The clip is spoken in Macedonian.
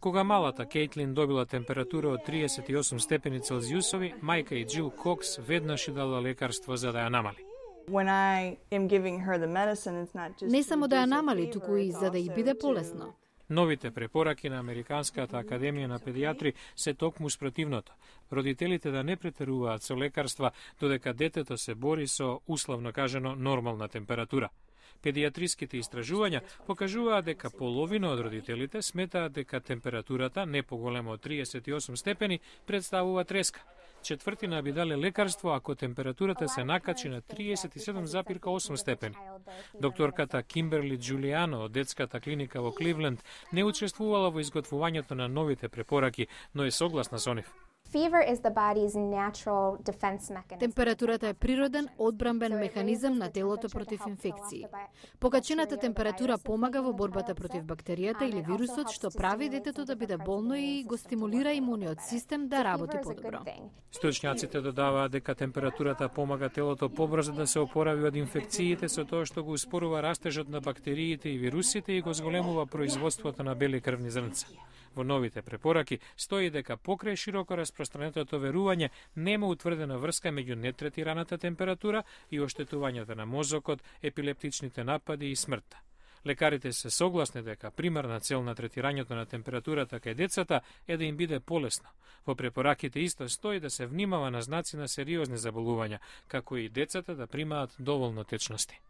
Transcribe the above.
Кога малата Кейтлин добила температура од 38 степени Целзиусови, мајка и Џил Кокс веднаш ја дала лекарство за да ја намали. Не само да ја намали, туку и за да ја биде полесно. Новите препораки на Американската академија на педијатри се токму спротивното. Родителите да не претеруваат со лекарства додека детето се бори со, условно кажано, нормална температура. Педијатриските истражувања покажуваат дека половина од родителите сметаат дека температурата не поголема од 38 степени представува треска. Четвртина би дале лекарство ако температурата се накачи на 37,8 степени. Докторката Кимберли Џулијано од детската клиника во Кливленд не учествувала во изготвувањето на новите препораки, но е согласна со нив. Температурата е природен одбранбен механизам на телото против инфекции. Покачената температура помага во борбата против бактеријата или вирусот, што прави детето да биде болно и го стимулира имуниот систем да работи подобро. Стручњаците додаваат дека температурата помага телото побрзо да се опорави од инфекциите со тоа што го успорува растежот на бактериите и вирусите и го зголемува производството на бели крвни зрнца. Во новите препораки стои дека покрај широко распространетото верување нема утврдена врска меѓу нетретираната температура и оштетувањето на мозокот, епилептичните напади и смртта. Лекарите се согласни дека примарна цел на третирањето на температурата кај децата е да им биде полесно. Во препораките исто стои да се внимава на знаци на сериозни заболувања, како и децата да примаат доволно течности.